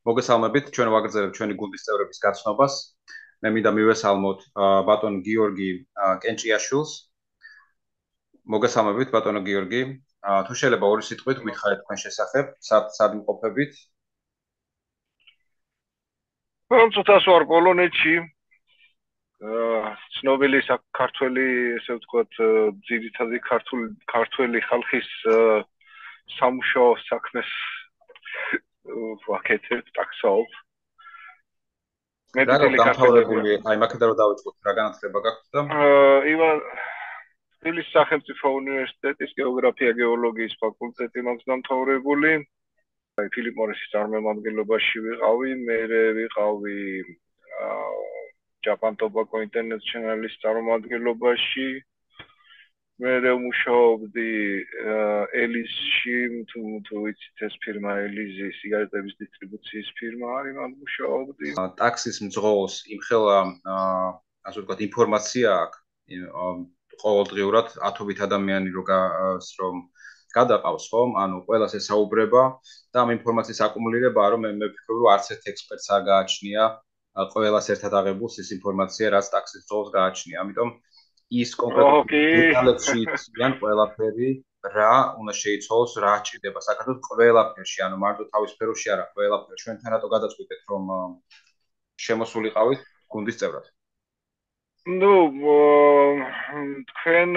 მოგესალმებით, ჩვენ ვაგრძელებთ ჩვენი გუნდის წევრების გაცნობას. მე მინდა მივესალმოთ ბატონ გიორგი კენჭიაშვილს. მოგესალმებით, ბატონო გიორგი. თუ შეიძლება ორი სიტყვით გითხარით თქვენ შესახებ, სად იმყოფებით? ცოტას ვარ პოლონეთში. ცნობილი საქართველი, ესე ვთქვათ, ძირითადი ქართველი ხალხის სამუშაო საქმეს ვაკეთებ, ტაქსაობ. დამთავრებული, აი მაქედან რომ დავიწყოთ, რა განათლება გაქვთ და? თბილისის სახელმწიფო უნივერსიტეტის გეოგრაფია გეოლოგიის ფაკულტეტი მაქვს დამთავრებული. ფილიპ მორისის წარმომადგენლობაში ვიყავი, მე ვიყავი Japan Tobacco Internationalis წარმომადგენლობაში. მე ვმუშაობდი ელიზში, თუ იცით ეს ფირმა ელიზი, სიგარეტების დისტრიბუციის ფირმა არის, მან ვმუშაობდი. ტაქსის მძღოლს იმხელა, ასე ვთქვათ, ინფორმაცია აქვს, ყოველდღიურად ათობით ადამიანი რომ გადაყავს, ხომ? ანუ ყველას ესაუბრება და ამ ინფორმაციის აკუმულირებაა, რომ მე ვფიქრობ, რომ არც ერთ ექსპერტს არ გააჩნია ყველას ერთად აღებულს ის ინფორმაცია, რაც ტაქსის მძღოლს გააჩნია. ამიტომ ის კონკრეტულად დეტალებში იციან ყველაფერი, რა უნდა შეიცვალოს, რა ჭირდება საქართველოს ყველაფერში, ანუ მარტო თავის სფეროში არა, ყველაფერში. ჩვენთან რატო გადაწყვიტეთ, რომ შემოსულიყავით გუნდის წევრად? თქვენ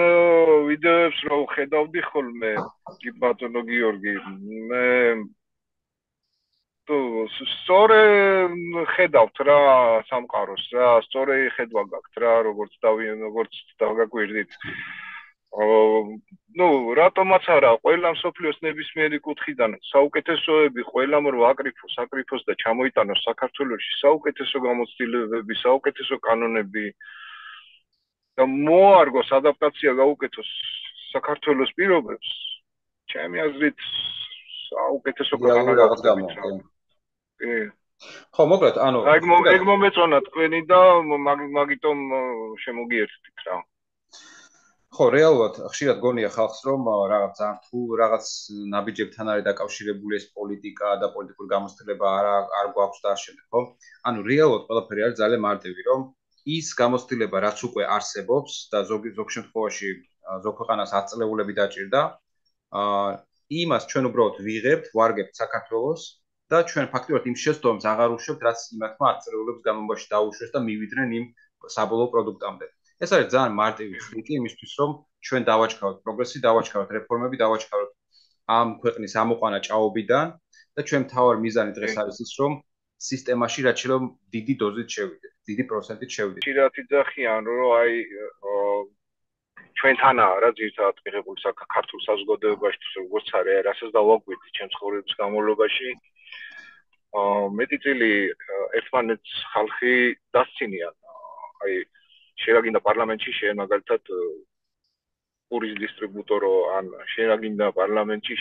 ვიდეოებს რო ხედავდი ხოლმე, ბატონო გიორგი, მე სწორე ხედავთ რა სამყაროს რა, სწორე ხედვა გაქვთ რა, როგორც დავგაგვირდით. რატომაც არა, ყველა მსოფლიოს ნებისმიერი კუთხიდან საუკეთესოები ყველამ რო აკრიფოს და ჩამოიტანოს საქართველოში საუკეთესო გამოცდილებები, საუკეთესო კანონები და მოარგოს ადაპტაცია გაუკეთოს საქართველოს პირობებს, ჩემი აზრით საუკეთესო კანონები. ხო, მოკლედ, ანუ ეგ მომეწონა თქვენი და მაგიტომ შემოგიერთდით რა. ხო, რეალურად ხშირად გონია ხალხს, რომ რაღაც ძალიან რთულ რაღაც ნაბიჯებთან არის დაკავშირებული ეს პოლიტიკა და პოლიტიკური გამოცდილება არ გვაქვს და ამ შემდეგ, ხო? ანუ რეალურად ყველაფერი არის ძალიან მარტივი, რომ ის გამოცდილება, რაც უკვე არსებობს და ზოგ შემთხვევაში ზოგ ქვეყანას 10 წლეულები დაჭირდა, იმას ჩვენ უბრალოდ ვიღებთ, ვარგებთ საქართველოს და ჩვენ ფაქტობრივად იმ შეცდომებს აღარ უშვებთ, რაც იმათმა 10 წლეულების განმავლობაში დაუშვეს და მივიდნენ იმ საბოლოო პროდუქტამდე. ეს არის ძალიან მარტივი ხრიკი იმისთვის, რომ ჩვენ დავაჩქაროთ პროგრესი, დავაჩქაროთ რეფორმები, დავაჩქაროთ ამ ქვეყნის ამოყვანა ჭაობიდან და ჩვენ მთავარი მიზანი დღეს არის ის, რომ სისტემაში რაც შეიძლება დიდი დოზით შევიდეთ, დიდი პროცენტით შევიდეთ. ხშირად იძახიან, რომ აი ჩვენთანაა რა ძირითადად მიღებული საქართველოს საზოგადოებაში, როგორც არის, რასაც დავაგვირდი ჩემს ცხოვრების განმავლობაში. მეტი წილი ერთმანეთს ხალხი დასცინიან. აი შეიძლება პარლამენტში მაგალითად პურის დისტრიბუტორო ან შეიძლება პარლამენტში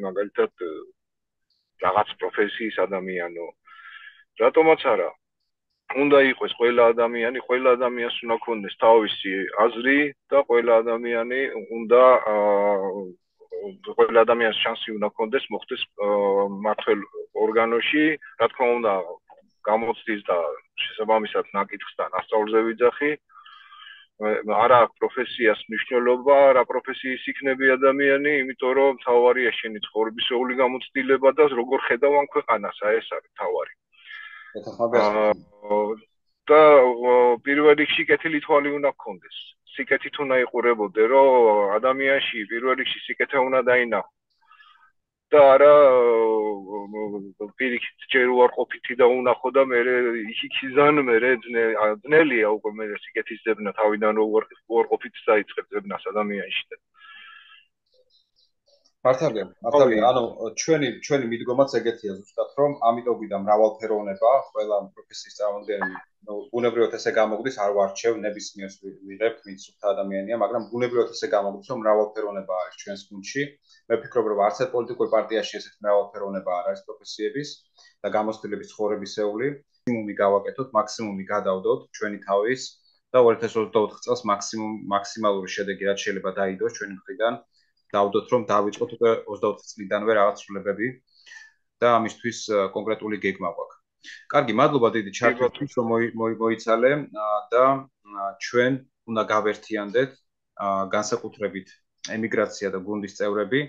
მაგალითად რაღაც პროფესიის ადამიანო. რატომაც არა? უნდა იყოს ყველა ადამიანს უნდა ქონდეს თავისი აზრი და ყველა ადამიანს შანსი უნდა ქონდეს მოხდეს მმართველ ორგანოში, რა თქმა უნდა, გამოცდის და შესაბამისად ნაკითხს და ასწავლზე ვიძახი. არა აქვს პროფესიას მნიშვნელობა, რა პროფესიის იქნება ადამიანი, იმიტომ რომ თავარია შენი ცხოვრებისეული გამოცდილება და როგორ ხედავ ამ ქვეყანას, ეს არის თავარი. და პირველ რიგში კეთილი თვალი უნდა გქონდეს. სიკეთით უნდა იყურებოდე, რომ ადამიანში პირველ რიგში სიკეთე უნდა დაინახო. და არა პირიქით ჯერ უარყოფითი და უნახო და მე იქ-იქიდან მე ძნელია უკვე მე სიკეთის ძებნა თავიდან რომ უარყოფითს დაიწყებ ძებნას ადამიანში. მართალია, ანუ ჩვენი მიდგომაც ეგეთია ზუსტად, რომ ამიტომ გვიდა მრავალფეროვნება, ყველა პროფესიის წარმომადგენელი, ბუნებრივად ესე გამოგვდის, არ ვარჩევ ნებისმიერს ვიღებთ, ვინც სუფთა ადამიანია, მაგრამ ბუნებრივად ესე გამოგვდის, რომ მრავალფეროვნება არის ჩვენს გუნდში. მე ვფიქრობ, რომ არც ერთ პოლიტიკურ პარტიაში ესეთი მრავალფეროვნება არ არის პროფესიების და გამოცდილების ცხოვრებისეული. მაქსიმუმი გავაკეთოთ, მაქსიმუმი გადავდოთ ჩვენი თავის და 2024 წელს მაქსიმალური შედეგი რაც შეიძლება დაიდოს ჩვენი მხრიდან. დავდოთ რომ დავიწყოთ უკვე 24 წლიდანვე რაღაც ცვლილებები და ამისთვის კონკრეტული გეგმა გვაქვს. კარგი, მადლობა დიდი ჩართვისთვის, რომ მოიცალე და ჩვენ უნდა გავერთიანდეთ განსაკუთრებით ემიგრაცია და გუნდის წევრები,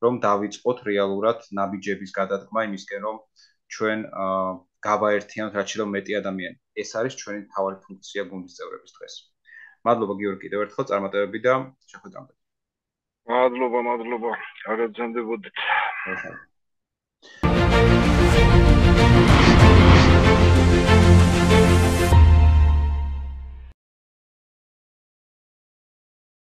რომ დავიწყოთ რეალურად ნაბიჯების გადადგმა იმისკენ, რომ ჩვენ გავაერთიანოთ რაც შეიძლება მეტი ადამიანი. ეს არის ჩვენი მთავარი ფუნქცია გუნდის წევრების დღეს. მადლობა გიორგი კიდევ ერთხელ წარმატებები და შეხვედრამდე. მადლობა, აგრძელდებოდეთ.